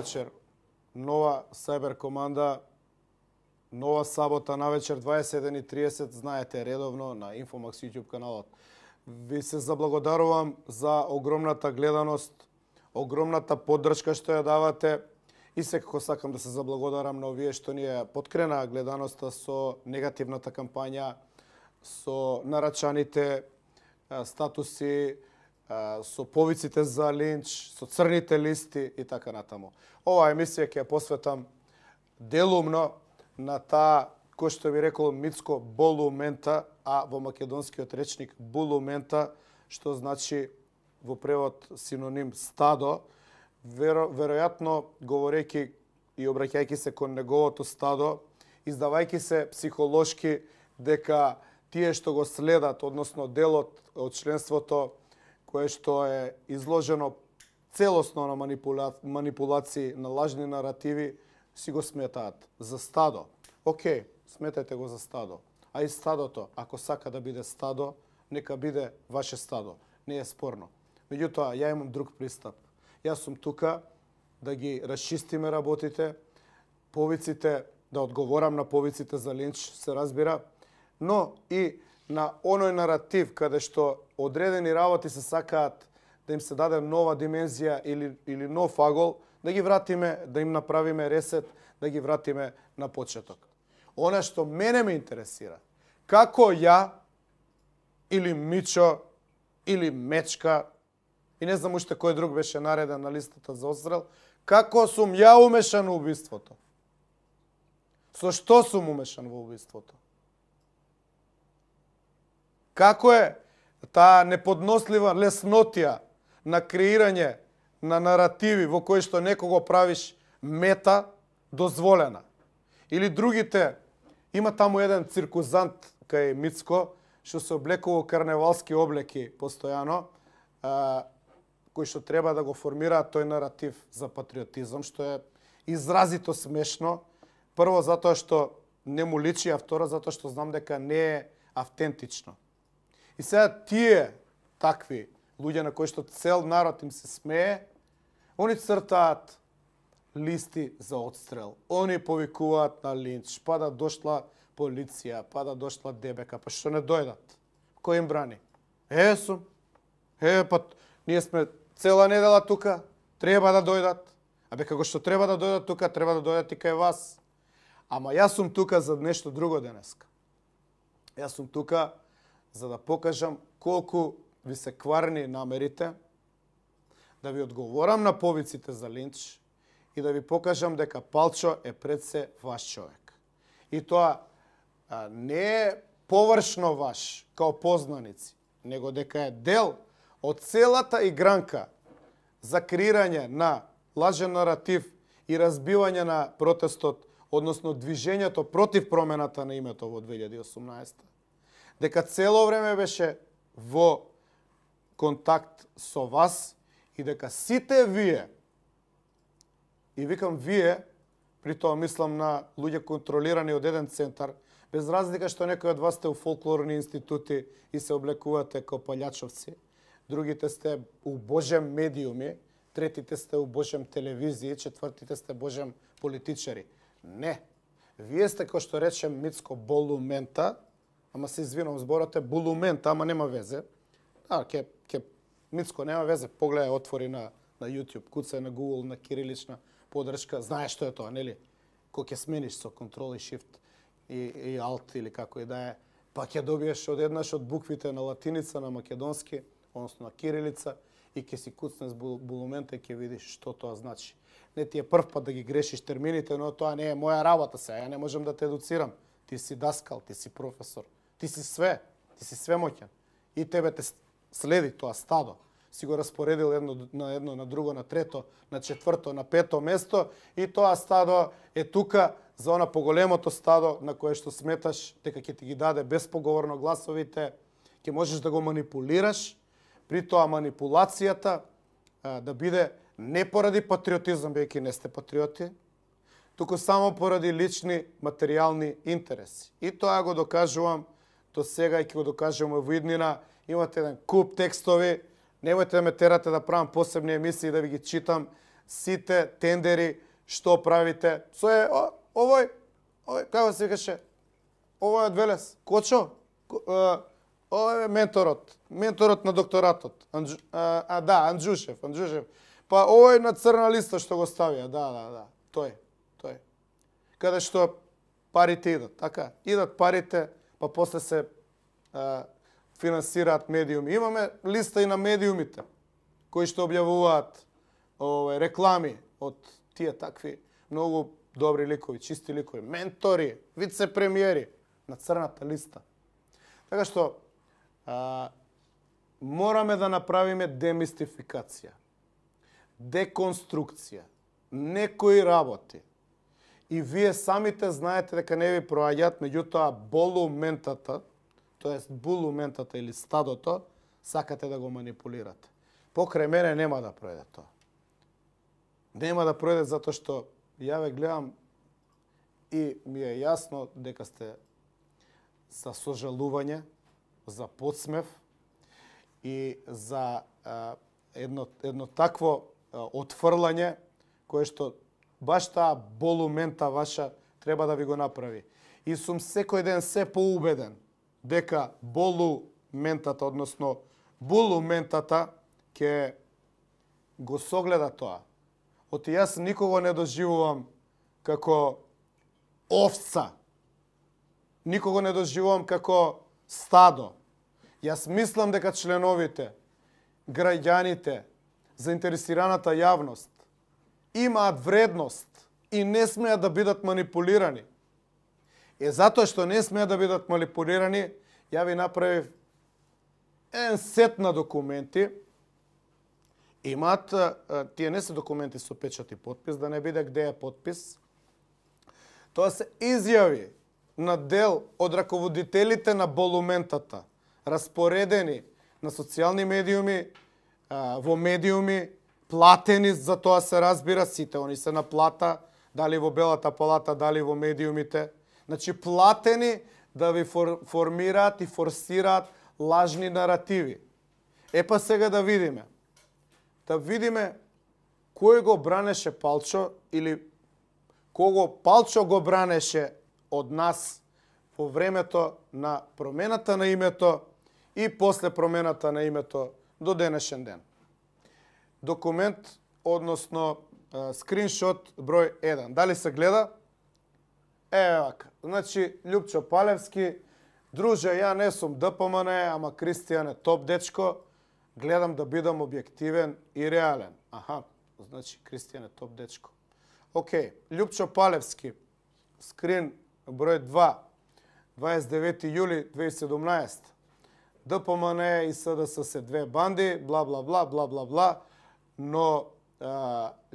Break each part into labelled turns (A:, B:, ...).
A: вечер, нова Cyber команда, нова сабота на вечер 21:30, знаете редовно на Infomax YouTube каналот. Ви се заблагодарувам за огромната гледаност, огромната поддршка што ја давате и секако сакам да се заблагодарам на овие што ни ја подкрена гледаноста со негативната кампања, со нарачаните статуси, со повиците за линч, со црните листи и така натаму. Оваа емисија ќе ја посветам делумно на таа, кој што би рекол Мицко, болумента, а во македонскиот речник булумента, што значи во превод синоним стадо. Веројатно, говорејќи и обраќајќи се кон неговото стадо, издавајќи се психолошки дека тие што го следат, односно делот од членството кое што е изложено целосно на манипулации, на лажни наративи, си го сметаат за стадо. Океј, сметајте го за стадо. А и стадото, ако сака да биде стадо, нека биде ваше стадо. Не е спорно. Меѓутоа, ја имам друг пристап. Јас сум тука да ги расчистиме работите, повиците, да одговорам на повиците за линч, се разбира, но и на оној наратив каде што одредени работи се сакаат да им се даде нова димензија или нов агол, да ги вратиме, да им направиме ресет, да ги вратиме на почеток. Она што мене ме интересира, како ја или Мичо или Мечка, и не знам уште кој друг беше нареден на листата за отстрел, како сум ја умешан во убиството? Со што сум умешан во убиството? Како е таа неподнослива леснотија на креирање на наративи во кои што некого правиш мета дозволена? Или другите, има таму еден циркузант кај Мицко, што се облекува во карневалски облеки постојано, кој што треба да го формира тој наратив за патриотизам, што е изразито смешно. Прво, затоа што не му личи, а второ, затоа што знам дека не е автентично. И сега тие такви луѓе на кои што цел народ им се смее, они цртаат листи за отстрел. Они повикуваат на линч, па да дошла полиција, па да дошла ДБК, па што не дојдат? Кој им брани? Сум. Па ние сме цела недела тука, треба да дојдат. Абе како што треба да дојдат тука, треба да дојдат и кај вас. Ама јас сум тука за нешто друго денеска. Јас сум тука за да покажам колку ви се кварни намерите, да ви одговорам на повиците за линч и да ви покажам дека Палчо е пред се ваш човек. И тоа не е површно ваш, као познаници, него дека е дел од целата игранка за креирање на лажен наратив и разбивање на протестот, односно движењето против промената на името во 2018. Дека цело време беше во контакт со вас и дека сите вие, и викам вие, при тоа мислам на луѓе контролирани од еден центар, без разлика што некои од вас сте у фолклорни институти и се облекувате како палјачовци, другите сте у божем медиуми, третите сте у божем телевизии, четвртите сте божем политичари. Не. Вие сте, кој што речем Мицко, болумента, ама се извинам, зборот е булумента, ама нема везе. Мицко, нема везе, погледај, отвори на YouTube, куцај на Google, на кирилична подршка, знаеш што е тоа, нели? Кој ќе смениш со Ctrl и Shift и Alt или како и да е, па ќе добиеш одеднаш од буквите на латиница, на македонски, односно на кирилица, и ќе си куцнеш булумента и ќе видиш што тоа значи. Не ти е прв пат да ги грешиш термините, но тоа не е моја работа сега, ја не можам да те едуцирам. Ти си даскал, ти си професор, ти си свемоќен. И тебе те следи тоа стадо. Си го распоредил едно на друго, на трето, на четврто, на пето место и тоа стадо е тука за она поголемото стадо на кое што сметаш дека ќе ти ги даде безпоговорно гласовите, ќе можеш да го манипулираш, при тоа манипулацијата да биде не поради патриотизам, бидејќи не сте патриоти, туку само поради лични материјални интереси. И тоа го докажувам до сега и ќе го докажувам во иднина. Имате еден куп текстови, немојте да ме терате да правам посебни емисии да ви ги читам сите тендери што правите. Овој, како се викаше? Овој од Велес, Кочо? Овој е менторот на докторатот. Анджушев. Па овој на црна листа што го ставија, да, тој. Каде што парите идат, така? Идат парите, па после се финансираат медиуми. Имаме листа и на медиумите, кои што објавуваат реклами од тие такви многу добри ликови, чисти ликови, ментори, вице-премиери на црната листа. Така што мораме да направиме демистификација, деконструкција, некои работи. И вие самите знаете дека не ви проаѓаат, меѓутоа болументата, тоест булументата или стадото, сакате да го манипулирате. Покрај мене нема да пројде тоа. Нема да пројде затоа што ја ве гледам и ми е јасно дека сте за сожалување, за подсмев и за едно такво отфрлање кое што баш таа болумента ваша треба да ви го направи. И сум секој ден се поубеден дека болументата, односно булументата, ќе го согледа тоа. Оти јас никого не доживувам како овца. Никого не доживувам како стадо. Јас мислам дека членовите, граѓаните, заинтересираната јавност имаат вредност и не смеат да бидат манипулирани. Затоа што не смеат да бидат манипулирани, ја ви направив еден сет на документи. Имаат, тие не се документи со печат и подпис, да не биде где е подпис. Тоа се изјави на дел од раководителите на болументата, распоредени на социјални медиуми, во медиуми, платени за тоа се разбира, сите они се на плата, дали во Белата палата, дали во медиумите. Значи платени да ви формираат и форсираат лажни наративи. Епа сега да видиме. Да видиме кој го бранеше Палчо или кого Палчо го бранеше од нас во времето на промената на името и после промената на името до денешен ден. Документ, односно скриншот број 1. Дали се гледа? Вака. Значи, Љупчо Палевски, друже, ја не сум ДПМН, ама Кристијан е топ дечко, гледам да бидам објективен и реален. Аха, значи Кристијан е топ дечко. Океј, Љупчо Палевски, скрин број 2, 29 јули 2017. ДПМН и СДС се две банди, бла бла бла бла бла бла, но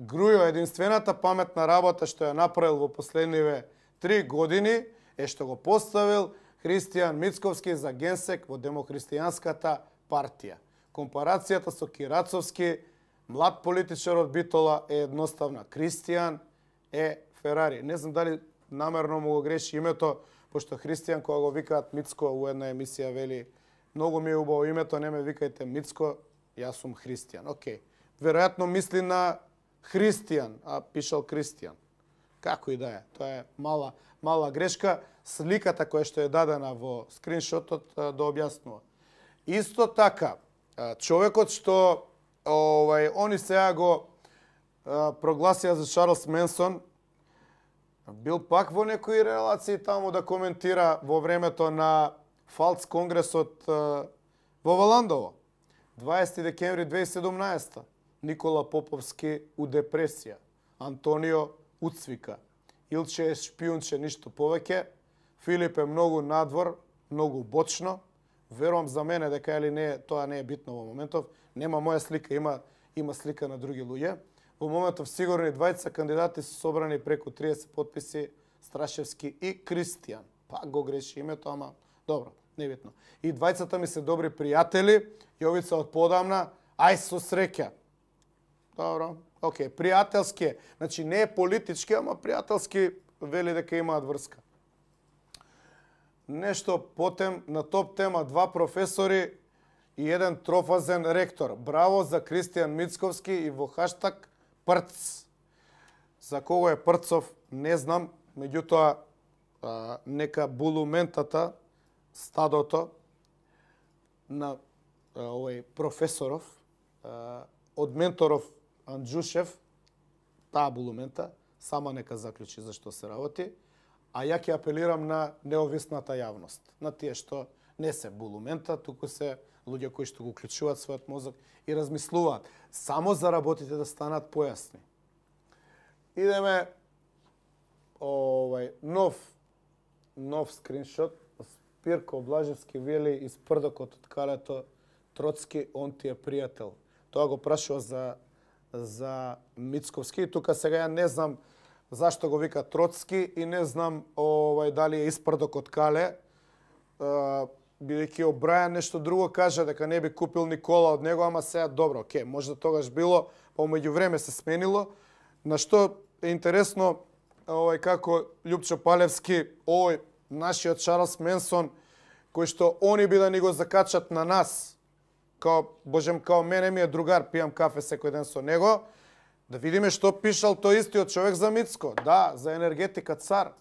A: Грујо единствената паметна работа што ја направил во последниве 3 години е што го поставил Христијан Мицковски за генсек во Демохристијанската партија. Компарацијата со Кирацовски, млад политичар од Битола, е едноставна. Кристијан е Ферари. Не знам дали намерно му го греши името, пошто Христијан кога го викаат Мицко во една емисија вели многу ми е убаво името, не ме викајте Мицко, јас сум Христијан. Океј. Веројатно мисли на Христијан, а пишал Кристијан. Како и да е, тоа е мала грешка. Сликата која што е дадена во скриншотот да објаснува. Исто така, човекот што они сега го прогласија за Чарлс Менсон, бил пак во некои релации таму да коментира во времето на Фалц конгресот во Валандово. 20 декември 2017. Никола Поповски у депресија. Антонио уцвика. Илче е шпиунче, ништо повеќе. Филип е многу надвор, многу бочно. Верувам за мене дека или не, тоа не е битно во моментов. Нема моја слика, има слика на други луѓе. Во моментов сигурни двајца кандидати се собрани преку 30 подписи, Страшевски и Кристијан. Пак го греши името, ама добро, небитно. И двајцата ми се добри пријатели, Јовица од подамна, ај со среќа. Добро, океј, пријателски. Значи не е политички, ама пријателски вели дека имаат врска. Нешто потем на топ тема 2 професори и еден трофазен ректор. Браво за Кристијан Мицковски и во хаштаг Прц. За кого е Прцов, не знам, меѓутоа нека булументата, стадото на овој професоров, од менторов Анджушев, таа булумента, сама нека заклучи за што се работи, а ја ќе апелирам на неовисната јавност, на тие што не се булумента, туку се луѓе кои што го уклучуваат својот мозок и размислуваат само за работите да станат појасни. Идеме нов скриншот. Спирко Блажевски вели из прдокот од калето Троцки, он ти е пријател. Тоа го прашува за Мицковски. Тука сега ја не знам зашто го вика Троцки и не знам дали е испрдок од кале. бидејќи Обрајан нешто друго кажа дека не би купил Никола од него, ама сега добро, оке, можда тогаш било, па меѓу време се сменило. На што е интересно, како Љупчо Палевски, нашиот Чарлс Менсон, кој што они би да ни го закачат на нас, као мене ми е другар, пијам кафе секој ден со него, да видиме што пишал тој истиот човек за Мицко. Да, за енергетика цар,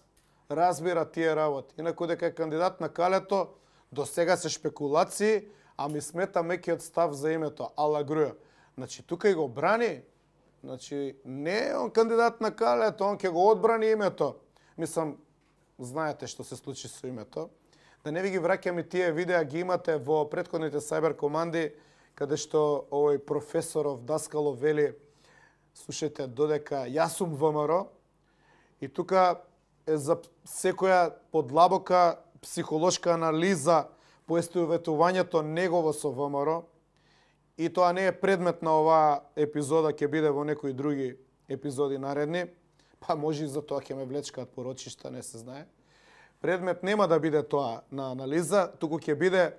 A: разбира тие работи. Инаку дека е кандидат на Калето, до сега се шпекулации, а ми смета мекиот став за името, Ала Груја. Значи, тука и го брани. Значи, не е он кандидат на Калето, он ќе го одбрани името. Мислам, знаете што се случи со името. Да не ви ги враќам и тие видеа, ги имате во претходните Cyber команди, каде што овој професоров Даскалов вели, слушајте, додека јас сум ВМРО, и тука е за секоја подлабока психолошка анализа поистоветувањето негово со ВМРО, и тоа не е предмет на оваа епизода, ќе биде во некои други епизоди наредни, па може и за тоа ќе ме влечкаат порочишта, не се знае. Предмет нема да биде тоа на анализа, туку ќе биде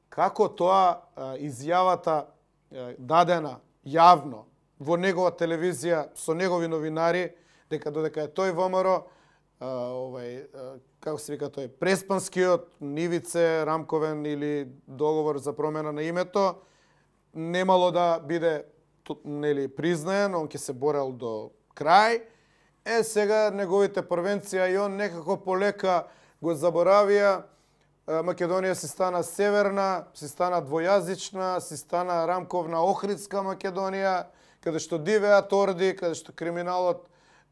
A: како тоа изјавата дадена јавно во негова телевизија со негови новинари, дека додека е тој ВМРО, како се вика тој, Преспанскиот, Нивице, Рамковен или договор за промена на името, немало да биде признаен, он ќе се борел до крај. Сега неговите првенција и он некако полека го заборавија. Македонија си стана северна, си стана двојазична, си стана рамковна Охридска Македонија, каде што дивеат орди, каде што криминалот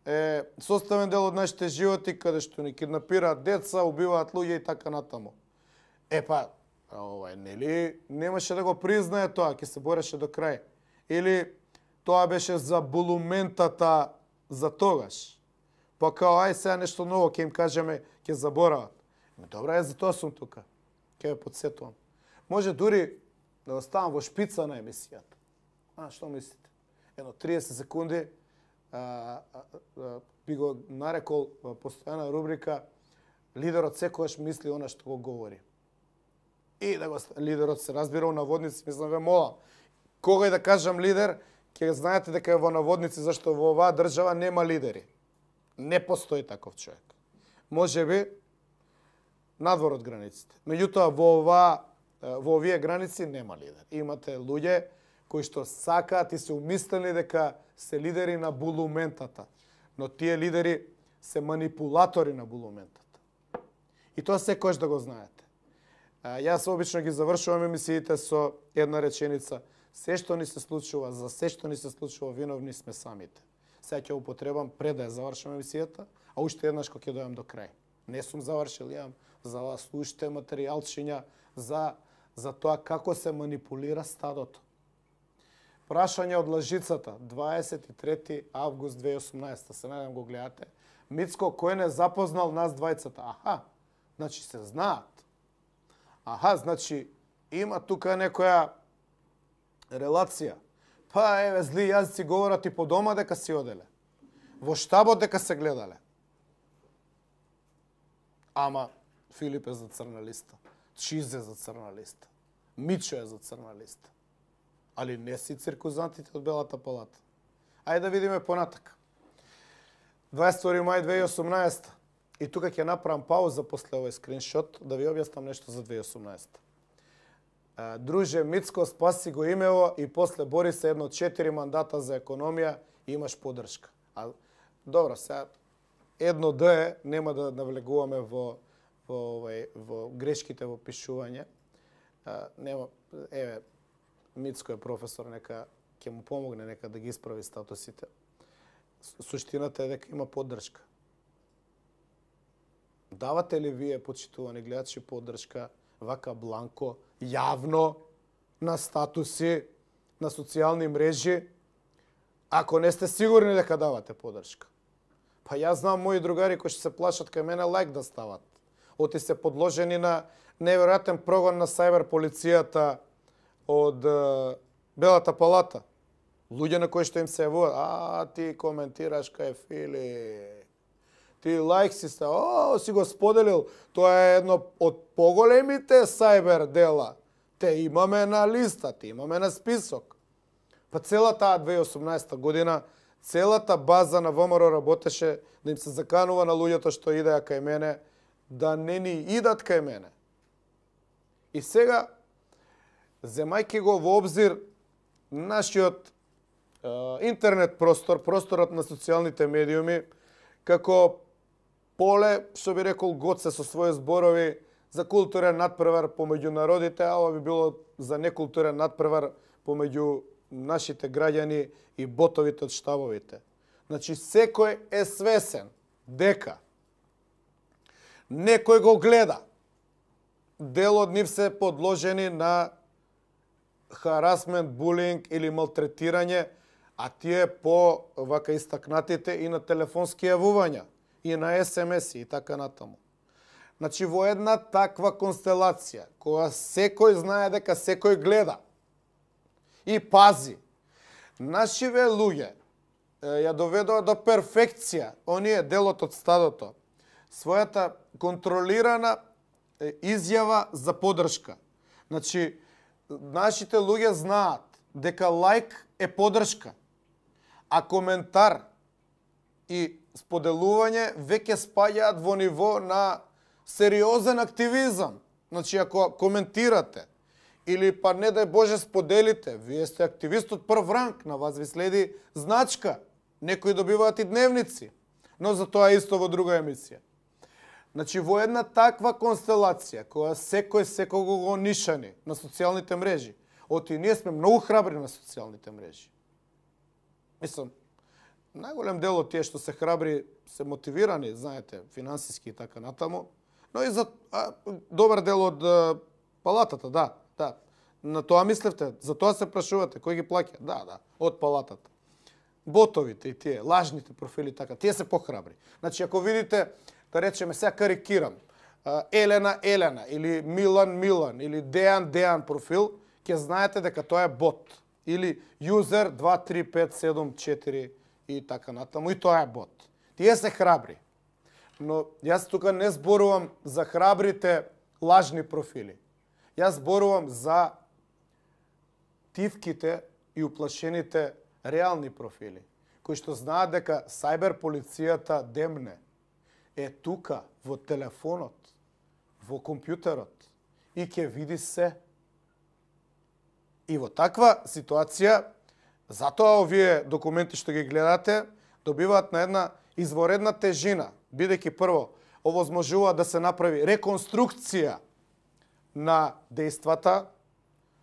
A: е составен дел од нашите животи, каде што ни киднапираат деца, убиваат луѓе и така натаму. Нели немаше да го признае тоа, ќе се бореше до крај. Или тоа беше за булументата за тогаш. Па као, ај сега нешто ново, ќе им кажеме, ќе заборават. Добра, за тоа сум тука. Ќе ве подсетувам. Може дури да оставам во шпица на емисијата. Што мислите? Едно 30 секунди би го нарекол постојана рубрика лидерот секогаш мисли она што го говори. И да го лидерот се разбира у наводници, мислам ве молам. Кога и да кажам лидер, ќе знаете дека е во наводници, зашто во оваа држава нема лидери. Не постои таков човек. Може би надвор од границите. Меѓутоа во овие граници нема лидер. Имате луѓе кои што сакаат и се умислени дека се лидери на булументата. Но тие лидери се манипулатори на булументата. И тоа секојаш да го знаете. Јас обично ги завршувам емисиите со една реченица. Се што ни се случува, за се што ни се случува, виновни сме самите. Сега ќе употребам пред да ја завршам емисијата, а уште еднаш кога ќе дојам до крај. Не сум завршил, имам за вас уште материјалчиња за тоа како се манипулира стадото. Прашање од лажицата, 23 август 2018, се надам го гледате. Мицко, кој не запознал нас двајцата? Значи се знаат. Значи има тука некоја релација. Еве, зли јазици говорат и по дома дека си оделе. Во штабот дека се гледале. Ама Филип е за црна листа. Чиз е за црна листа. Мичо е за црна листа. Али не си циркузантите од Белата палата. Ајде да видиме понатак. 22 мај 2018. И тука ќе направам пауза после овој скриншот да ви објаснам нешто за 2018. Друже, Мицко, спаси го имево и после бори се едно 4 мандата за економија и имаш поддршка. Добро, сега едно да е, нема да навлегуваме во грешките во пишување. Еве, Мицко е професор, нека ќе му помогне, нека да ги исправи статусите. Суштината е дека има поддршка. Давате ли вие, почитувани гледачи, поддршка вака бланко, јавно, на статуси, на социјални мрежи, ако не сте сигурни дека давате поддршка? Па јас знам мои другари кои што се плашат кај мене лайк да стават. Оти се подложени на неверојатен прогон на сајбер полицијата од Белата палата. Луѓе на кои што им се јавуваат, ти коментираш кај Филип. ти лайк си си го споделил. Тоа е едно од поголемите сајбер дела. Те имаме на листа, те имаме на список. Па цела таа 2018 година, целата база на ВМРО работеше да им се заканува на луѓето што идеа кај мене, да не ни идат кај мене. И сега, земајќи го во обзир нашиот интернет простор, просторот на социјалните медиуми, како поле, што би рекол Гоце со своји зборови за културен надпревар помеѓу народите, а ова би било за некултурен надпревар помеѓу нашите граѓани и ботовите од штабовите. Значи, секој е свесен дека некој го гледа. Дел од нив се подложени на харасмент, булинг или малтретирање, а тие по вака истакнатите и на телефонски јавувања, и на СМС и така натаму. Значи, во една таква констелација, која секој знае дека секој гледа и пази, нашиве луѓе ја доведоа до перфекција, оние делот од стадото, својата контролирана изјава за подршка. Значи, нашите луѓе знаат дека лайк е подршка, а коментар и споделување веќе спаѓаат во ниво на сериозен активизам. Значи, ако коментирате или па не дај Боже споделите, вие сте активист од прв ранг, на вас ви следи значка. Некои добиваат и дневници, но за тоа исто во друга емисија. Значи, во една таква констелација, која секој секого го нишани на социјалните мрежи, оти ние сме многу храбри на социјалните мрежи. Мислам, најголем дел од тие што се храбри се мотивирани, знаете, финансиски и така натаму, но и за добар дел од палатата, да. На тоа мислевте, за тоа се прашувате, кој ги плаќа? Да, од палатата. Ботовите и тие, лажните профили, така, тие се похрабри. Значи, ако видите, да речеме, сега карикирам, Елена или Милан или Дејан профил, ќе знаете дека тоа е бот. Или юзер 235774 и така натаму, и тоа е бот. Тие се храбри. Но јас тука не зборувам за храбрите лажни профили. Јас зборувам за тивките и уплашените реални профили, кои што знаат дека сајбер полицијата демне е тука во телефонот, во компјутерот и ќе види се. И во таква ситуација, затоа овие документи што ги гледате, добиваат на една изворедна тежина, бидејќи прво овозможува да се направи реконструкција на дејствата.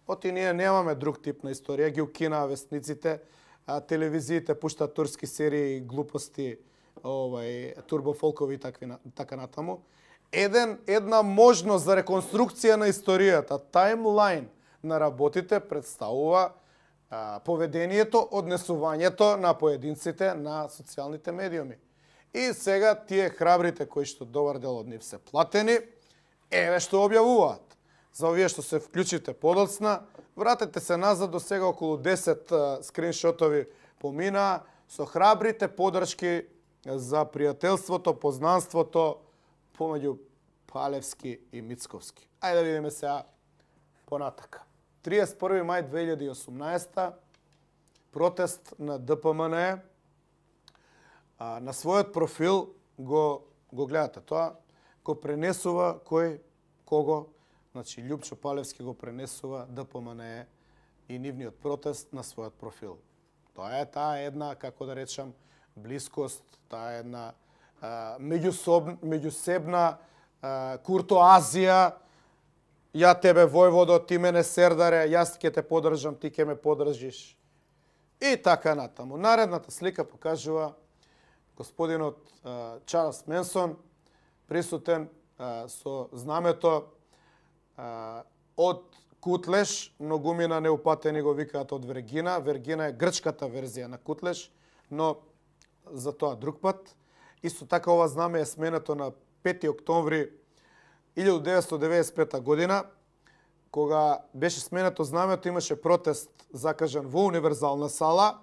A: Оти ние немаме друг тип на историја, ги укинаа вестниците, телевизиите пуштаат турски серии, глупости, турбофолкови и така натаму. Една можност за реконструкција на историјата, таймлайн на работите представува поведението, однесувањето на поединците на социјалните медиуми. И сега тие храбрите кои што добар дел од нив се платени, еве што објавуваат. За овие што се вклучите подоцна, вратете се назад до сега околу 10 скриншотови помина со храбрите подршки за пријателството, познанството помеѓу Палевски и Мицковски. Ајде да видиме сега понатака. 31. мај 2018, протест на ДПМН. На својот профил го гледате тоа, го пренесува кого? Значи, Љупчо Палевски го пренесува ДПМН и нивниот протест на својот профил. Тоа е таа една, како да речам, блискост, таа е една меѓусебна куртоазија. Ја тебе војводо, ти мене сердаре, јас ќе те подржам, ти ќе ме подржиш. И така натаму. Наредната слика покажува господинот Чарлс Менсон, присутен со знамето од Кутлеш, многумина неупатени го викаат од Вергина. Вергина е грчката верзија на Кутлеш, но за тоа друг пат. Исто така ова знаме е сменето на 5 октомври 1995 година, кога беше сменето знамето, имаше протест закажан во Универзална сала,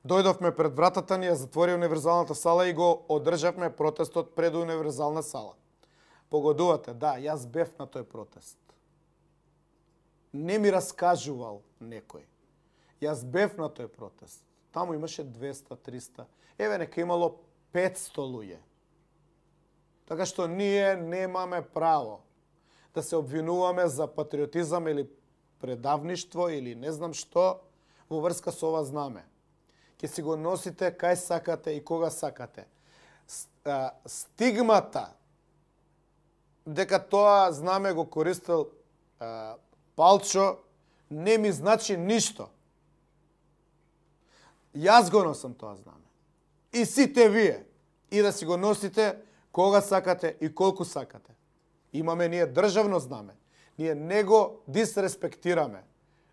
A: Дојдовме пред вратата ни, ја затвори универзалната сала и го одржавме протестот пред универзална сала. Погодувате, да, јас бев на тој протест. Не ми раскажувал некој. Јас бев на тој протест. Таму имаше 200, 300. Еве, нека имало 500 луѓе. Така што ние немаме право да се обвинуваме за патриотизам или предавништво или не знам што во врска со ова знаме. Ке си го носите кај сакате и кога сакате. Стигмата дека тоа знаме го користел Палчо не ми значи ништо. Јас го носам тоа знаме. И сите вие. И да си го носите кога сакате и колку сакате. Имаме ние државно знаме. Ние не го дисреспектираме.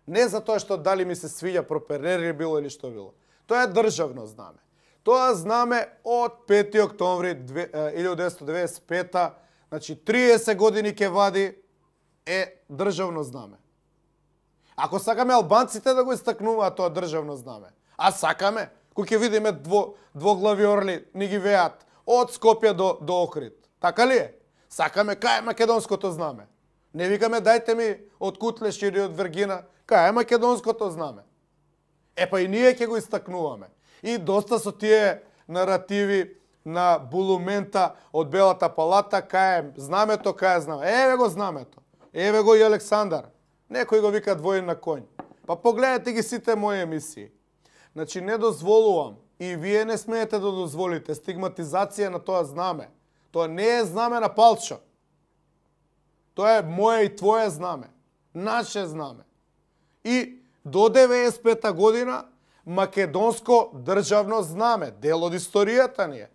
A: Не за тоа што дали ми се свиѓа проперери било или што било. Тоа е државно знаме. Тоа знаме од 5. октомври 1995, значи 30 години ќе вади, е државно знаме. Ако сакаме албанците да го истакнуваат тоа државно знаме, а сакаме, кој ќе видиме двоглави орли ни ги веат од Скопје до Охрид. Така ли е? Сакаме кај е македонското знаме. Не викаме дајте ми од Кутлеш или од Вергина, кај е македонското знаме. Епа и ние ќе го истакнуваме. И доста со тие наративи на булумента од Белата палата, кај е знамето, кај е знаме. Еве го знамето. Еве го и Александар. Некој го вика двоен на конј. Па погледнете ги сите мои емисии. Значи не дозволувам и вие не смеете да дозволите стигматизација на тоа знаме. Тоа не е знаме на Палчо. Тоа е моje и твое знаме. Наше знаме. И до 95-та година македонско државно знаме. Дел од историјата ни е.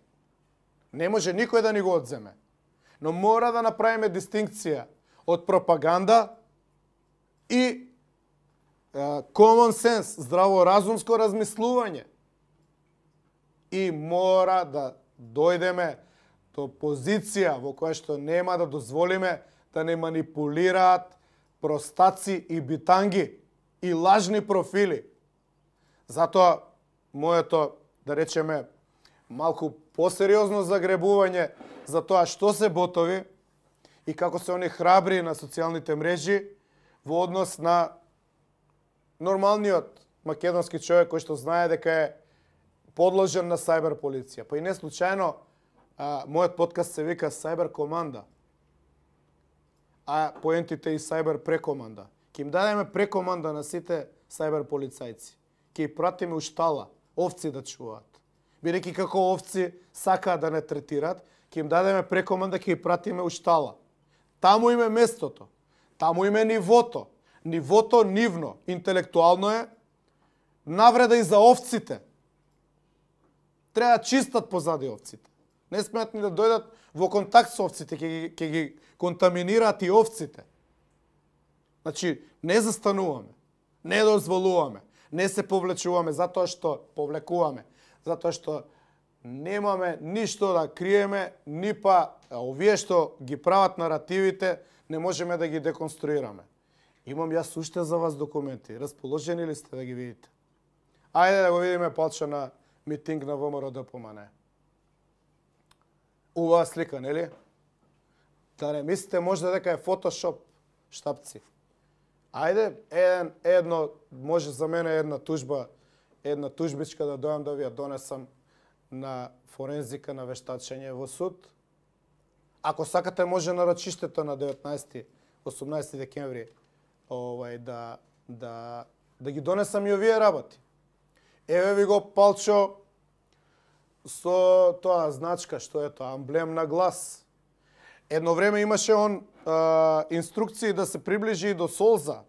A: Не може никој да ни го одземе. Но мора да направиме дистинкција од пропаганда и common sense, здраворазумско размислување. И мора да дојдеме до позиција во која што нема да дозволиме да не манипулираат простаци и битанги и лажни профили. Затоа моето, да речеме, малку посериозно загребување за тоа што се ботови и како се они храбри на социјалните мрежи во однос на нормалниот македонски човек кој што знае дека е подложен на сајбер полиција. Па и не случајно мојот подкаст се вика Сајбер команда. А поентите и сајбер прекоманда. Ке им дадеме прекоманда на сите сајбер полицајци. Ке ги пратиме у штала, овци да чуваат. Бидејќи како овци сакаат да не третираат, ке им дадеме прекоманда, ке ги пратиме у штала. Таму им е местото. Таму им е нивото. Нивото нивно, интелектуално е навреда и за овците. Треба чистат позади овците. Не смеат ни да дојдат во контакт со овците, ќе ги контаминираат и овците. Значи, не застануваме, не дозволуваме, не се повлечуваме затоа што повлекуваме, затоа што немаме ништо да криеме, ни па овие што ги прават наративите, не можеме да ги деконструираме. Имам јас уште за вас документи. Расположени ли сте да ги видите? Ајде да го видиме Палчо на митинг на ВМРО ДПМН. Убава слика, нели? Да не мислите можда дека е фотошоп, штапци. Ајде, едно, може за мене една тужбичка да дојам да ви ја донесам на форензика на вештачење во суд. Ако сакате, може на рочиштето на 19-18 декември да ги донесам и овие работи. Еве ви го Палчо со тоа значка, што е тоа, амблем на глас. Едно време имаше он инструкции да се приближи до Солза.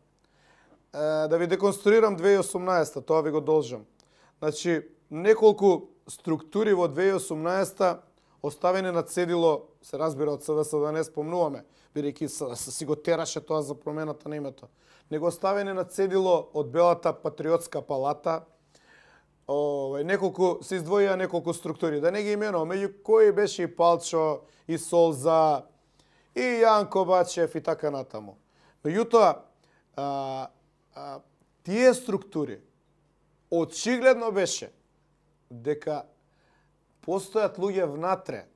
A: Да ви деконструирам 2018, тоа ви го должам. Значи, неколку структури во 2018 оставени на цедило, се разбира од СДС да не спомнуваме, бидејќи си го тераше тоа за промената на името. Него оставени на цедило од Белата патриотска палата, неколку се издвоија неколку структури, да не ги именувам, меѓу кои беше и Палчо, и Солза, и Јанко Бачев и така натаму. Меѓутоа, тие структури очигледно беше дека постојат луѓе внатре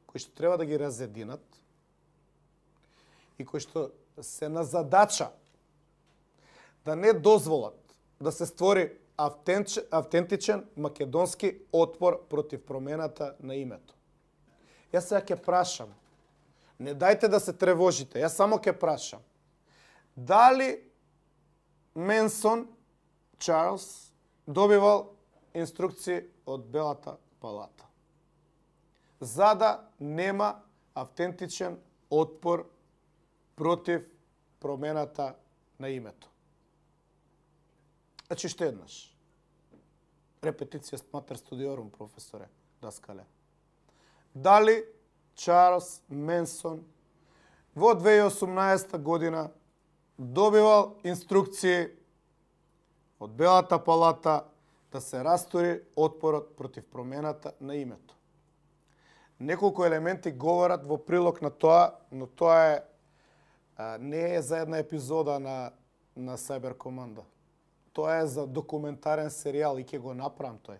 A: кои што треба да ги разединат и кои што се на задача да не дозволат да се створи автентичен македонски отпор против промената на името. Јас сега ќе прашам, не дајте да се тревожите, јас само ќе прашам, дали Менсон Чарлс добивал инструкции од Белата палата за да нема автентичен отпор против промената на името? Значи, што еднаш. Репетиција матер студиорум, професоре Даскале. Дали Чарлс Менсон во 2018 година добивал инструкции од Белата палата да се растури отпорот против промената на името? Неколку елементи говорат во прилог на тоа, но тоа не е за една епизода на Cyber Команда. Тоа е за документарен серијал и ќе го направам тој.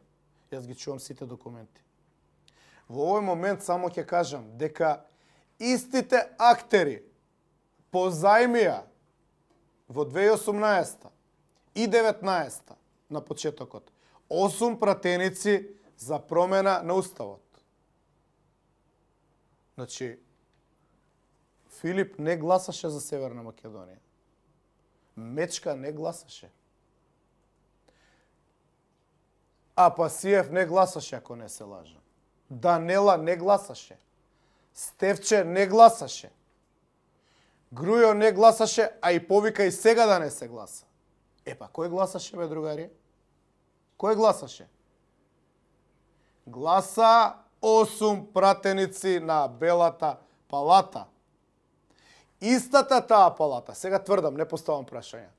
A: Јас ги чувам сите документи. Во овој момент само ќе кажам дека истите актери позајмија во 2018 и 2019 на почетокот 8 пратеници за промена на уставот. Значи, Филип не гласаше за Северна Македонија. Мечка не гласаше. Апасиев не гласаше, ако не се лажам. Данела не гласаше. Стевче не гласаше. Грујо не гласаше, а и повика и сега да не се гласа. Епа, кој гласаше, бе, другари? Кој гласаше? Гласа 8 пратеници на Белата палата. Истата таа палата, сега тврдам, не поставам прашања,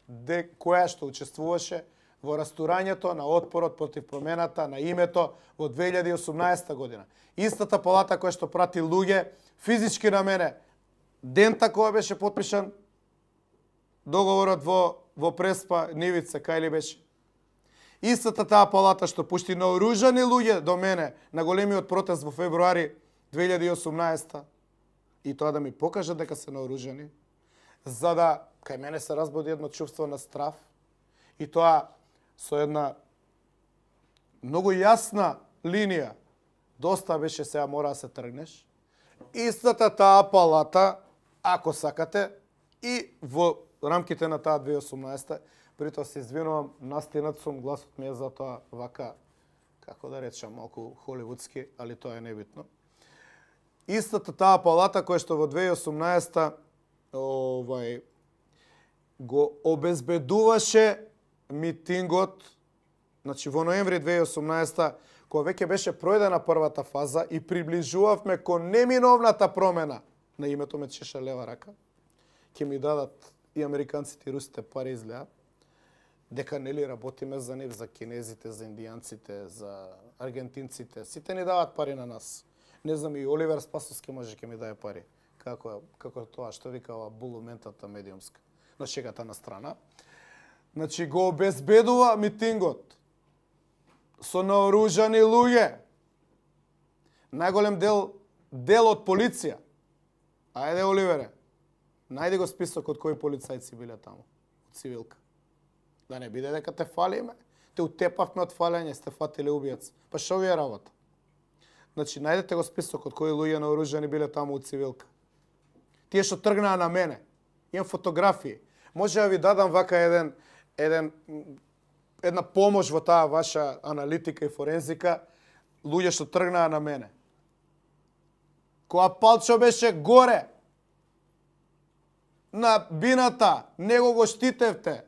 A: која што учествуваше во растурањето на отпорот против промената на името во 2018 година. Истата палата која што прати луѓе физички на мене, дента кога беше потпишан договорот во Преспа, Нивица, кај ли беше? Истата таа палата што пушти наоружани луѓе до мене на големиот протест во февруари 2018 и тоа да ми покажа дека се наоружани, за да кај мене се разбуди едно чувство на страв и тоа со една многу јасна линија. Доста беше, сега мора да се тргнеш. Истата таа палата, ако сакате, и во рамките на таа 2018, притоа се извинувам, настинат сум, гласот ми е за тоа вака, како да речам, малку холивудски, али тоа е небитно. Истата таа палата која што во 2018 го обезбедуваше митингот, значи во ноември 2018, кога веќе беше пројдена првата фаза и приближувавме кон неминовната промена на името, ме чеша лева рака, ќе ми дадат и американците и русите пари изгледа, дека нели работиме за нив, за кинезите, за индијанците, за аргентинците, сите ни дават пари на нас. Не знам, и Оливер Спасовски може ќе ми даде пари. Како тоа што викава булументата медиумска. Но шегата на страна. Значи го обезбедува митингот со наоружани луѓе. Најголем дел од полиција. Ајде, Оливере, најди го списокот кои полицајци биле таму, од цивилка. Да не биде дека те фалиме, те утепавме од фалење, сте фатиле убиец. Па шо ви е работа? Значи, најдете го списокот кои луѓе наоружани биле таму од цивилка. Тие што тргнаа на мене. Имам фотографии. Може да ви дадам вака една помош во таа ваша аналитика и форензика, луѓе што тргнаа на мене. Кога Палчо беше горе на бината, него го штитевте,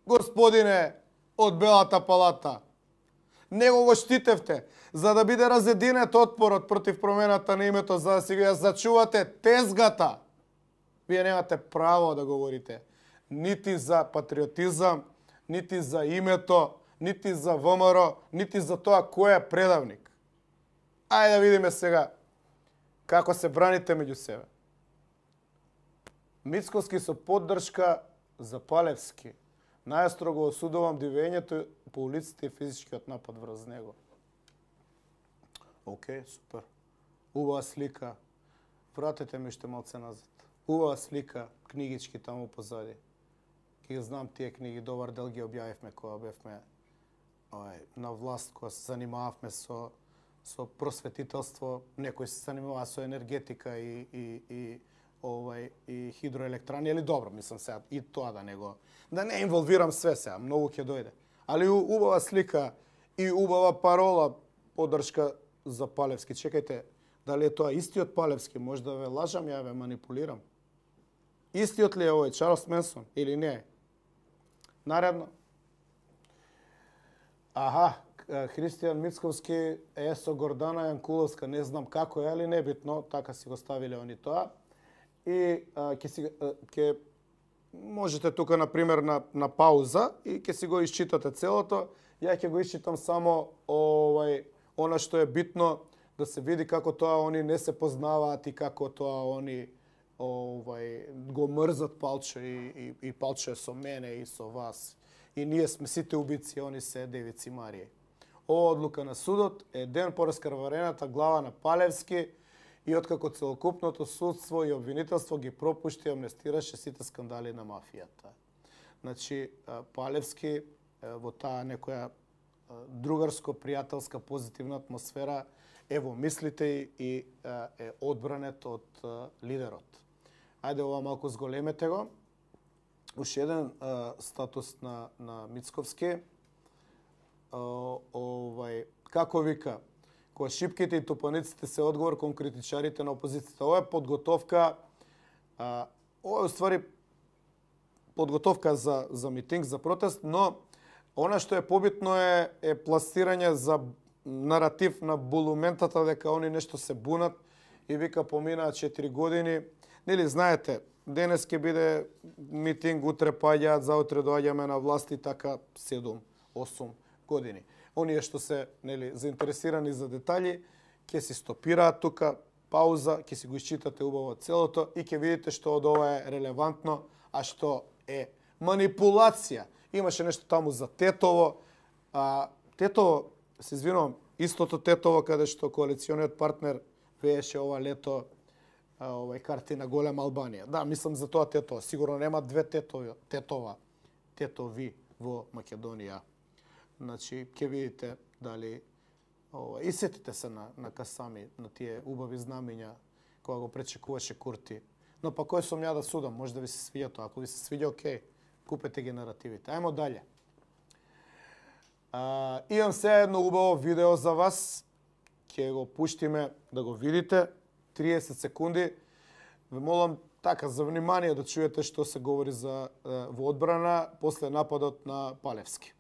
A: господине од Белата палата. Него го штитевте, за да биде разединет отпорот против промената на името, за да си ја зачувате тезгата. Вие немате право да говорите нити за патриотизам, нити за името, нити за ВМРО, нити за тоа кој е предавник. Ајде да видиме сега како се браните меѓу себе. Мицковски со поддршка за Палевски. Најстрого осудувам дивењето по улиците и физичкиот напад врз него. Океј, супер. Убава слика. Вратете ми уште малце назад. Убава слика, книгички таму позади. Ги знам тие книги, добар дел ги објавивме кога бевме на власт, кога се занимававме со просветителство, некои се занимаваа со енергетика и хидроелектрани, или добро, мислам сега и тоа да не инволвирам све сега, многу ќе дојде. Али убава слика и убава парола, поддршка за Палевски. Чекајте, дали е тоа истиот Палевски? Можда ве лажам, ја ве манипулирам. Истиот ли е овој Чарлс Менсон или не? Наредно. Аха, Христијан Мицковски е со Гордана Јанкуловска, не знам како е, али небитно, така си го ставиле они тоа. И ќе можете тука, например, на пауза и ќе си го исчитате целото. Ја ќе го исчитам само она што е битно, да се види како тоа они не се познаваат и како тоа они го мрзат Палчо и Палчо е со мене и со вас. И ние сме сите убици, они се девици Марија. Ова одлука на судот е ден по раскрварената глава на Палевски и откако целокупното судство и обвинителство ги пропушти и амнестираше сите скандали на мафијата. Значи, Палевски во таа некоја другарско-пријателска позитивна атмосфера е во мислите и е одбранет од лидерот. Ајде ова малку зголемете го. Уште еден статус на Мицковски. Како вика, кога шипките и тупаниците се одговор кон критичарите на опозицијата. Ова е подготовка, ова е уствари подготовка за митинг, за протест, но она што е побитно е пласирање за наратив на булументата дека они нешто се бунат и вика поминаа 4 години. Нели знаете, денес ќе биде митинг, утре паѓаат, заутре доаѓаме на власт и така 7-8 години. Оние што се заинтересирани за детали, ќе си стопираат тука, пауза, ќе си го исчитате убаво целото и ќе видите што од ова е релевантно, а што е манипулација. Имаше нешто таму за Тетово. Тетово, се извинувам, истото Тетово каде што коалициониот партнер вееше ова лето карти на голема Албанија. Да, мислам за тоа Тетово. Сигурно нема две Тетови во Македонија. Значи, ќе видите дали и сетите се на Касами, на тие убави знамиња кога го пречекуваше Курти. Но па кој сум ја да судам, може да ви се свиѓа тоа. Ако ви се свиѓа, окей, купете ги наративите. Ајмо дале. Имам се едно убаво видео за вас. Ќе го пуштиме да го видите. 30 секунди. Ве молам така за внимание да чуете што се говори во одбрана после нападот на Палевски.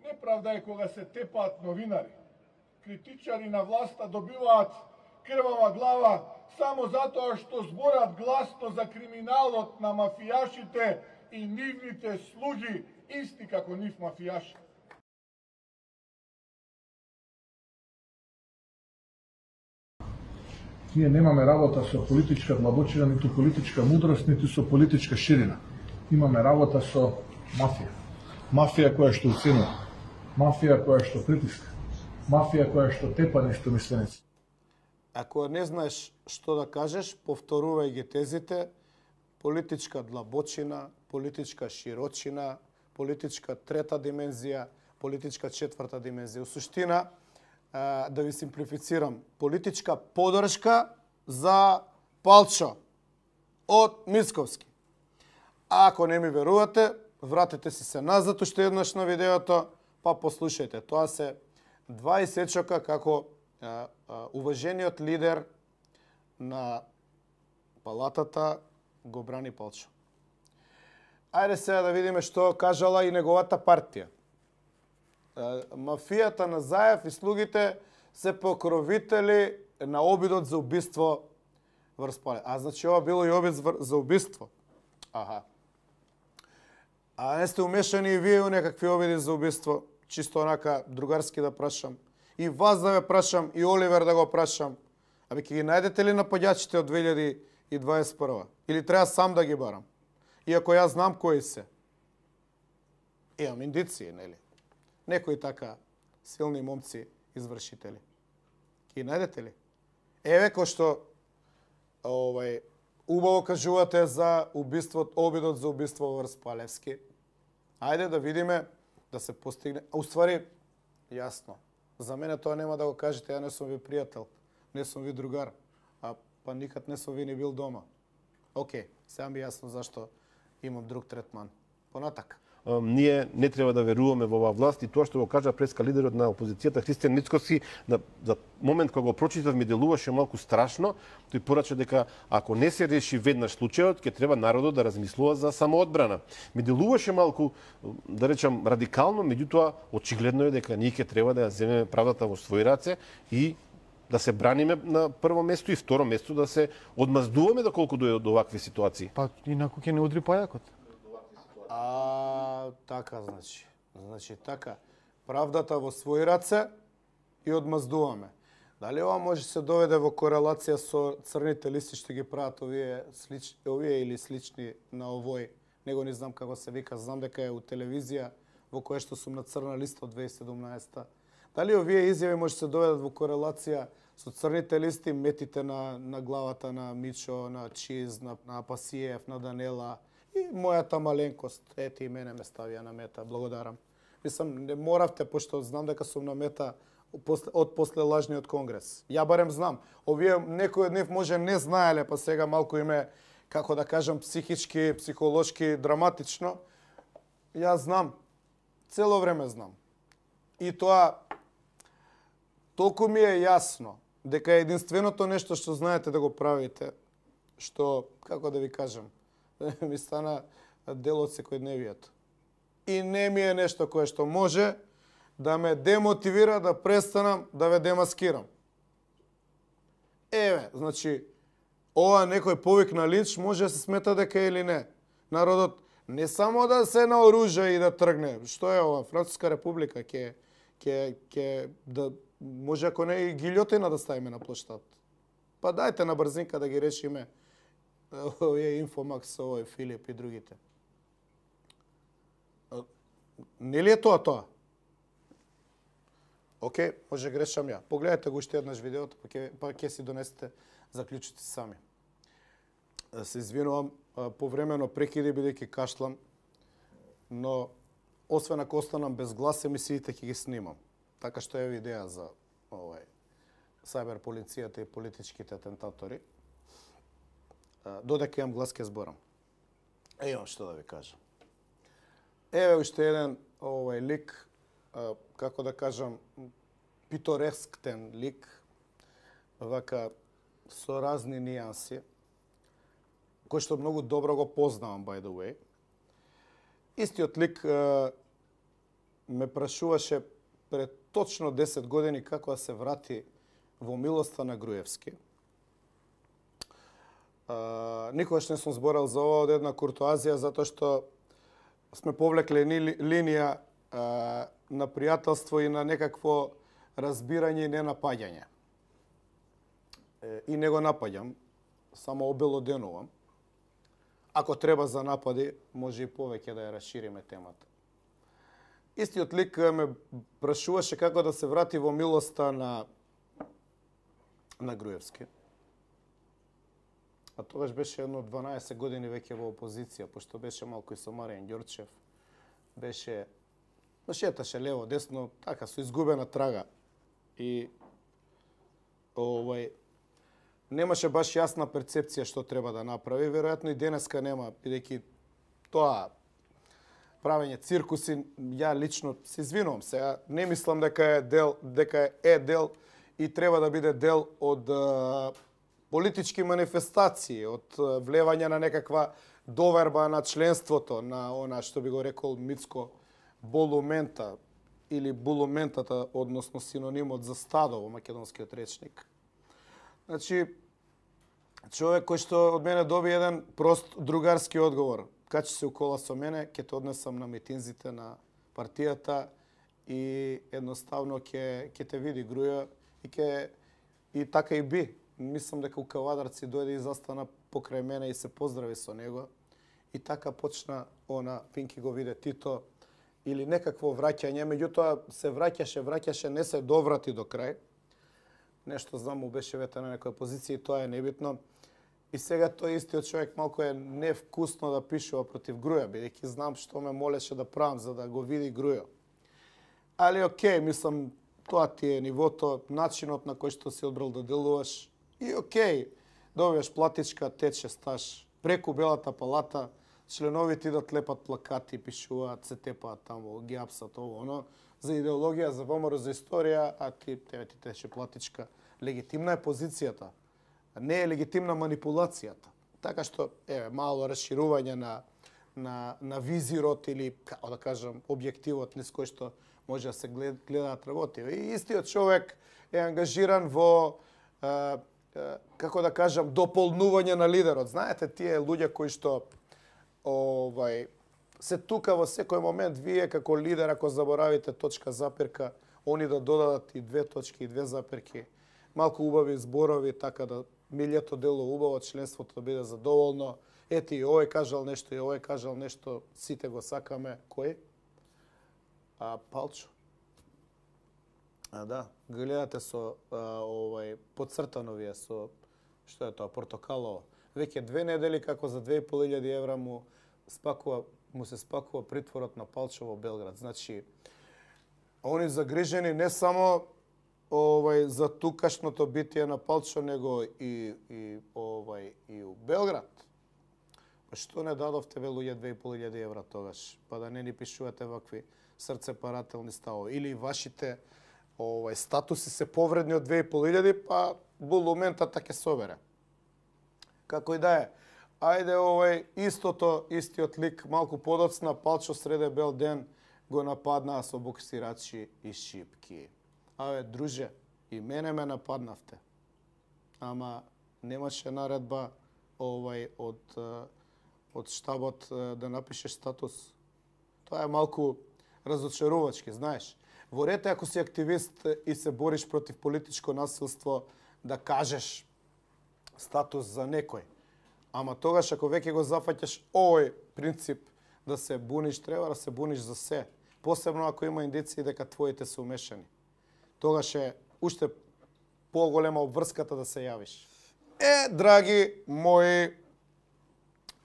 B: Неправда е кога се тепаат новинари. Критичари на власта добиваат крвава глава само затоа што зборат гласно за криминалот на мафијашите и нивните слуги, исти како нив мафијаши. Ние немаме работа со политичка длабочина, ниту политичка мудрост, ниту со политичка ширина. Имаме работа со мафија. Мафија која што уценува. Мафија која што притиска. Мафија која што тепа неистомисленици.
A: Ако не знаеш што да кажеш, повторувај ги тезите. Политичка длабочина, политичка широчина, политичка трета димензија, политичка четврта димензија. У суштина, да ви симплифицирам, политичка поддршка за Палчо од Мицковски. А ако не ми верувате, вратете се назад уште еднаш на видеото, па послушајте. Тоа се два исечока како уважениот лидер на палатата го брани Палчо. Ајде сега да видиме што кажала и неговата партија. Мафијата на Заев и слугите се покровители на обидот за убиство врз Палевски. А значи ова било и обид за убиство. Аха. А не сте умешани и вие у некакви обиди за убиство? Чисто онака другарски да прашам. И вас да ве прашам, и Оливер да го прашам. Абе, ќе ги најдете ли нападјачите од 2021? Или треба сам да ги барам? Иако јас знам кои се. Имам индиции, нели? Некои така силни момци извршители. Ки најдете ли? Еве кој што убаво кажувате за обидот за убиство врз Палевски. Ајде да видиме да се постигне. Уствари, јасно. За мене тоа нема да го кажете, ја не сум ви пријател, не сум ви другар, па никад не сум ви ни бил дома. Океј, сега ми јасно зашто имам друг третман. Понатак.
C: Ние не треба да веруваме во оваа власт и тоа што го кажа преска лидерот на опозицијата Христијан Мицкоски, за момент кога го прочитав ми делуваше малку страшно. Тој порача дека ако не се реши веднаш случајот, ќе треба народот да размислува за самоодбрана. Ми делуваше малку, да речам, радикално, меѓутоа очигледно е дека ние ќе треба да ја земеме правдата во своји раце и да се браниме на прво место и второ место да се одмаздуваме доколку дојде до овакви ситуации.
D: Па инаку ќе не удри пајакот.
A: Така, значи така. Правдата во своји раце и одмаздуваме. Дали ова може се доведе во корелација со црните листи што ги прават овие или слични на овој? Него не знам како се вика, знам дека е у телевизија во која што сум на црна листа од 2017. Дали овие изјави може се доведат во корелација со црните листи, метите на главата на Мичо, на Чиз, на Пасиев, на Данела и мојата маленкост? Ете и мене ме ставија на мета. Благодарам. Мислам, не моравте, пошто знам дека сум на мета од после лажниот конгрес. Ја барем знам. Овие некој од нив може не знаеле, па сега малку име, како да кажам, психички, психолошки, драматично. Ја знам. Цело време знам. И тоа толку ми е јасно дека единственото нешто што знаете да го правите, што, како да ви кажам, ми стана дел од секојдневието. И не ми е нешто кое што може да ме демотивира да престанам да ве демаскирам. Еве, значи, ова некој повик на линч може да се смета дека е или не. Народот не само да се наоружа и да тргне. Што е ова? Француска република ќе да може ако не и гилјотина да ставиме на плоштад. Па дајте на брзинка да ги решиме овие Инфомакс, овој Филип и другите. Нели е тоа? Океј, може грешам ја. Погледате го уште еднаш видеото, па ќе си донесете заклучоци сами. Се извинувам, повремено прекиди бидејќи кашлам, но освен ако останам без глас, емисиите ќе ги снимам. Така што е идеја за сајбер полицијата и политичките атентатори. Додека имам глас ке зборам. Имам што да ви кажам. Еве уште еден лик, како да кажам, питоресктен лик, вака со разни нијанси, кој што многу добро го познавам, by the way. Истиот лик ме прашуваше пред точно 10 години како да се врати во милоста на Груевски. Никогаш не сум зборал за ова од една куртоазија, затоа што сме повлекле линија на пријателство и на некакво разбирање и ненапаѓање. И не го напаѓам, само обелоденувам. Ако треба за напади, може и повеќе да ја расшириме темата. Истиот лик ме прашуваше како да се врати во милоста на Груевски. А тогаш беше едно 12 години веќе во опозиција, пошто беше малку и со Маријан Ѓорчев. Беше, шеташе лево, десно, така, со изгубена трага. И немаше баш јасна перцепција што треба да направи. Веројатно и денеска нема, бидејќи тоа правење циркуси, ја лично се извинувам сега, не мислам дека е дел и треба да биде дел од политички манифестации, од влевање на некаква доверба на членството, на она што би го рекол Мицко болумента или булументата, односно синонимот за стадо во македонскиот речник. Значи, човек кој што од мене доби еден прост другарски одговор. Качи се у кола со мене, ќе те однесам на митинзите на партијата и едноставно ќе те види Груја и така и би. Мислам дека у Кавадарци дојде и застана покрај мене и се поздрави со него. И така почна Пинки го виде Тито или некакво враќање, меѓутоа се враќаше, не се доврати до крај. Нешто знам му беше вете на некоја позиција и тоа е небитно. И сега тој истиот човек малку е невкусно да пишува против Груја, бидејќи знам што ме молеше да правам за да го види Грујо. Али окей, мислам, тоа ти е нивото, начинот на кој што си одбрал да делуваш. И окей, добиваш платичка, тече стаж преку Белата палата, членовите идат лепат плакати, пишуваат, се тепаат таму, ги апсат ово, оно, за идеологија, за ВМРО, за историја, а тебе ти тече платичка. Легитимна е позицијата, не е легитимна манипулацијата. Така што, мало расширување на визирот или, како да кажам, објективот низ кој што може да се гледаат работи. И истиот човек е ангажиран во, како да кажам, дополнување на лидерот. Знаете, тие луѓе кои што се тука во секој момент, вие како лидер, ако заборавите точка запирка, они да додадат и 2 точки и 2 запирки, малку убави зборови, така да милјето дело убаво, членството да биде задоволно. Ети, и овој кажал нешто, и овој кажал нешто, сите го сакаме. Кој? Палчо. Да, гледате со подцртано вие со, што е тоа, портокалово. Веќе 2 недели како за 2.500 евра му се спакува притворот на Палчо во Белград. Значи, они загрижени не само за тукашното битие на Палчо, него и у Белград. Што не дадовте ве луѓе 2.500 евра тогаш, па да не ни пишувате вакви срцепарателни ставови. Или вашите статуси се повредни од 2.500, па булументата ќе собере. Како и да е. Ајде, истиот лик, малку подоцна, Палчо среде бел ден го нападнаа со боксирачи и шипки. Друже, и мене ме нападнавте. Ама немаше наредба од штабот да напишеш статус. Тоа е малку разочарувачки, знаеш. Во ред ако си активист и се бориш против политичко насилство, да кажеш статус за некој. Ама тогаш ако веќе го зафаќаш овој принцип да се буниш, треба да се буниш за се. Посебно ако има индиции дека твоите се умешани. Тогаш е уште поголема обврската да се јавиш. Драги мои,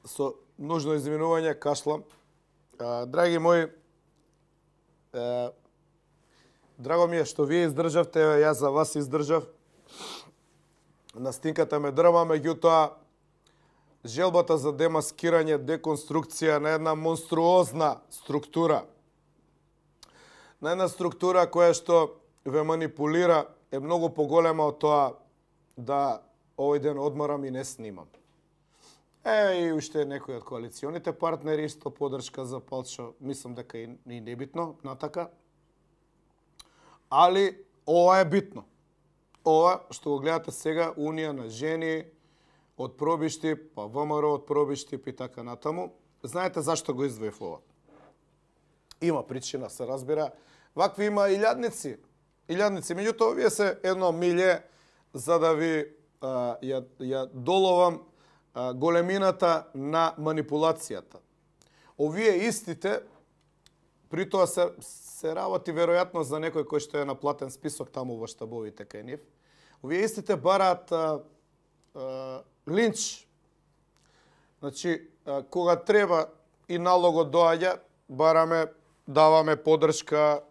A: со нужно извинување, кашлам. Драги мои, драго ми е што вие издржавте, јас за вас издржав. Настинката ме дрма, меѓутоа желбата за демаскирање, деконструкција на една монструозна структура, на една структура која што ве манипулира, е многу поголема од тоа да овој ден одморам и не снимам. И уште некои од коалиционите партнери исто поддршка за Палчо, мислам дека и небитно, натака. Али ова е битно. Ова што го гледате сега, Унија на жени од Пробиштип, па ВМРО од Пробиштип и така натаму. Знаете зашто го издвоив ова? Има причина, се разбира. Вакви има илјадници. Меѓутоа, вие се едно милје за да ви ја доловам големината на манипулацијата. Овие истите, при тоа се работи веројатно за некој кој што е на платен список таму во штабовите кај нив. Овие истите бараат линч. Значи, кога треба и налогот доаѓа, бараме, даваме поддршка,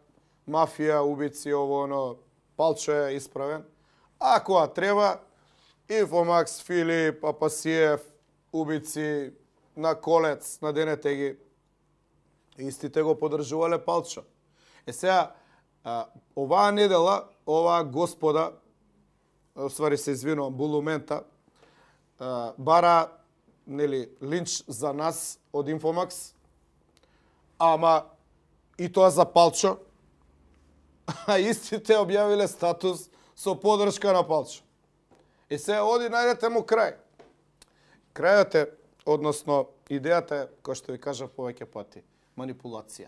A: мафија, убици, ово, Палчо е исправен. А кога треба, Инфомакс, Филип, Апасиев, убици, на Колец, на Денетеги, истите го поддржувале Палчо. Сега, оваа недела, оваа господа, оствари се извинувам, булумента, бара линч за нас од Инфомакс, ама и тоа за Палчо, а истите објавиле статус со поддршка на Палчо. И се оди, најдете му крај. Крајот е, односно, идејата е, кој што ви кажа повеќе пати, манипулација.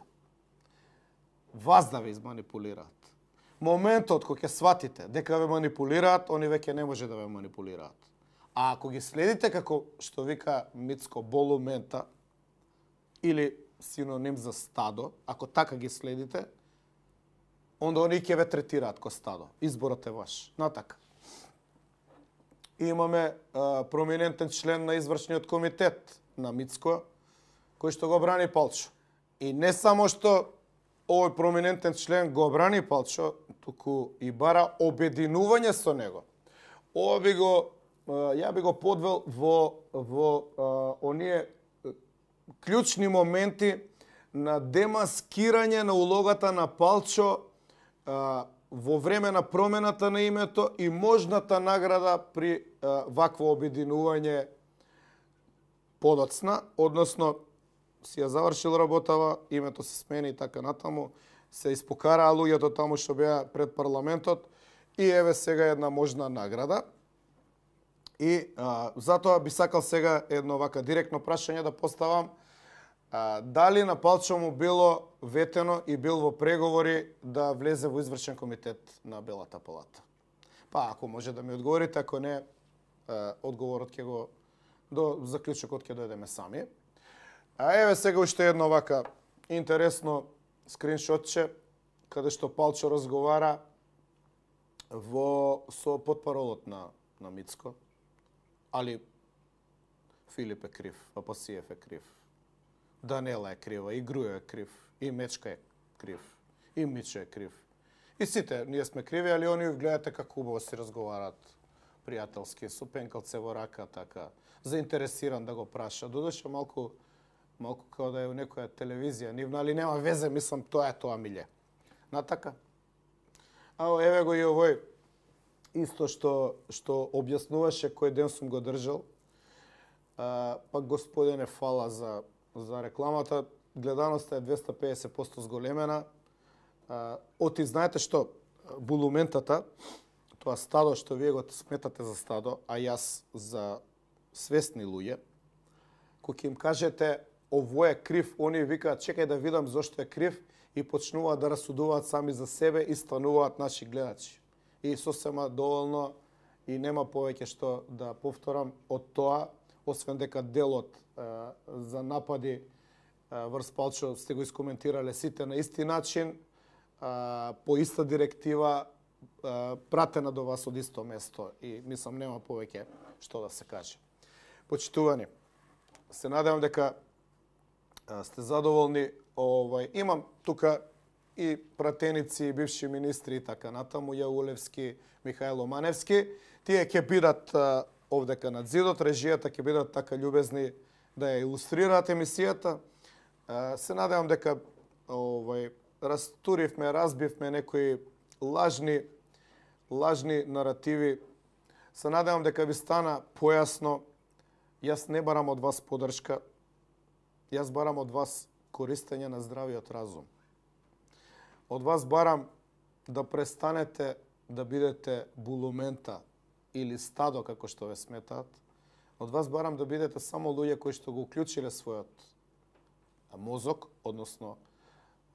A: Вас да ве изманипулираат. Моментот кој ќе сватите дека ве манипулираат, они веќе не може да ве манипулираат. А ако ги следите како што вика Мицко болумента, или синоним за стадо, ако така ги следите, онда они ќе ве третираат ко стадо. Изборот е ваш. Натака. И имаме проминентен член на извршниот комитет на Мицко, кој што го брани Палчо. И не само што овој проминентен член го брани Палчо, туку и бара обединување со него. Ова би го, ја би го подвел во оние клучни моменти на демаскирање на улогата на Палчо во време на промената на името и можната награда при вакво обединување подоцна, односно си ја завршил работава, името се смени и така натаму, се испокараа луѓето таму што беа пред парламентот и еве сега една можна награда. И затоа би сакал сега едно вака директно прашање да поставам. Дали на Палчо му било ветено и бил во преговори да влезе во извршен комитет на Белата палата? Па, ако може да ми одговорите, ако не, одговорот ќе го до заклучокот ќе дојдеме сами. А еве сега уште едно вака интересно скриншотче каде што Палчо разговара со потпаролот на Мицко. Али Филип е крив, Апасиев е крив, Данела е крива, и Грујо е крив, и Мечка е крив, и Мичо е крив. И сите ние сме криви, али они гледате како убаво си разговараат пријателски, со пенкалце во рака, така, заинтересиран да го праша. Додуше малку како да е у некоја телевизија нивна, али нема везе, мислам, тоа е тоа миле. Натака? Еве го и овој исто што објаснуваше кој ден сум го држал. Пак господине, фала за рекламата. Гледаноста е 250% зголемена. Оти знаете што, булументата, тоа стадо што вие го сметате за стадо, а јас за свесни луѓе, кога им кажете овој е крив, они викаат чекај да видам зошто е крив и почнуваат да расудуваат сами за себе и стануваат наши гледачи. И сосема доволно и нема повеќе што да повторам од тоа, освен дека делот за напади врз Палчо сте го искоментирале сите на исти начин, по иста директива, пратена до вас од исто место и мислам нема повеќе што да се каже. Почитувани, се надевам дека сте задоволни. Имам тука и пратеници, и бивши министри и така натаму, Јаулевски, Михајло Маневски. Тие ќе бидат овдека над зидот, режијата ќе бидат така љубезни да ја илустрираат емисијата. Се надевам дека растуривме, разбивме некои лажни наративи. Се надевам дека ви стана појасно. Јас не барам од вас подршка. Јас барам од вас користење на здравиот разум. Од вас барам да престанете да бидете булумента или стадо, како што ве сметаат. Од вас барам да бидете само луѓе кои што го уклучиле својот мозок, односно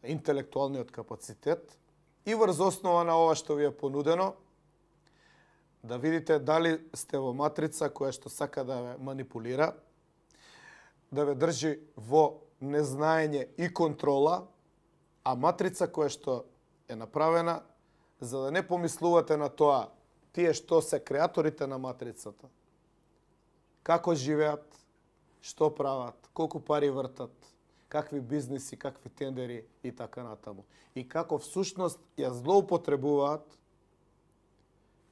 A: интелектуалниот капацитет и врз основа на ова што ви е понудено, да видите дали сте во матрица која што сака да ве манипулира, да ве држи во незнаење и контрола, а матрица која што е направена за да не помислувате на тоа тие што се креаторите на матрицата, како живеат, што прават, колку пари вртат, какви бизниси, какви тендери и така натаму. И како всушност ја злоупотребуваат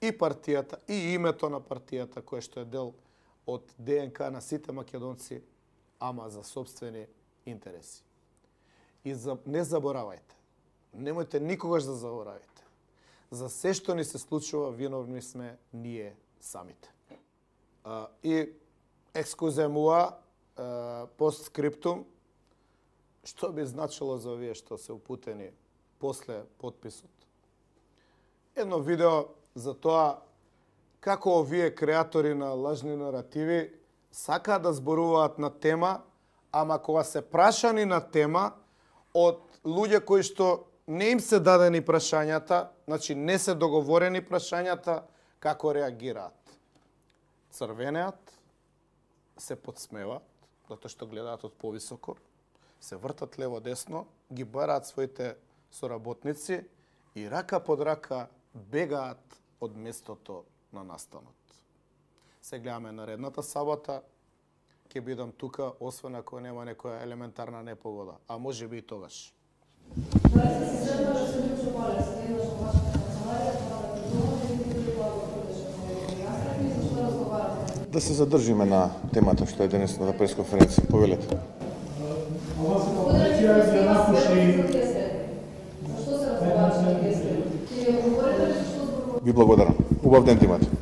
A: и партијата, и името на партијата, кое што е дел од ДНК на сите македонци, ама за собствени интереси. И не заборавајте, немојте никогаш да заборавите. За се што ни се случува, виновни сме ние самите. И екскузе муа, постскриптум, што би значило за овие што се упутени после подписот. Едно видео за тоа како овие креатори на лажни наративи сакаат да зборуваат на тема, ама кога се прашани на тема од луѓе кои што не им се дадени прашањата, значи не се договорени прашањата, како реагираат. Црвенеат, се подсмеваат, затоа што гледаат од повисоко, се вртат лево-десно, ги бараат своите соработници и рака под рака бегаат од местото на настанот. Се гледаме наредната сабота, ќе бидам тука, освен ако нема некоја елементарна непогода, а може би и тогаш.
E: Да се задржиме на темата што е денесна на пресконференција. Повелете. Ви благодарам. Убав ден имате.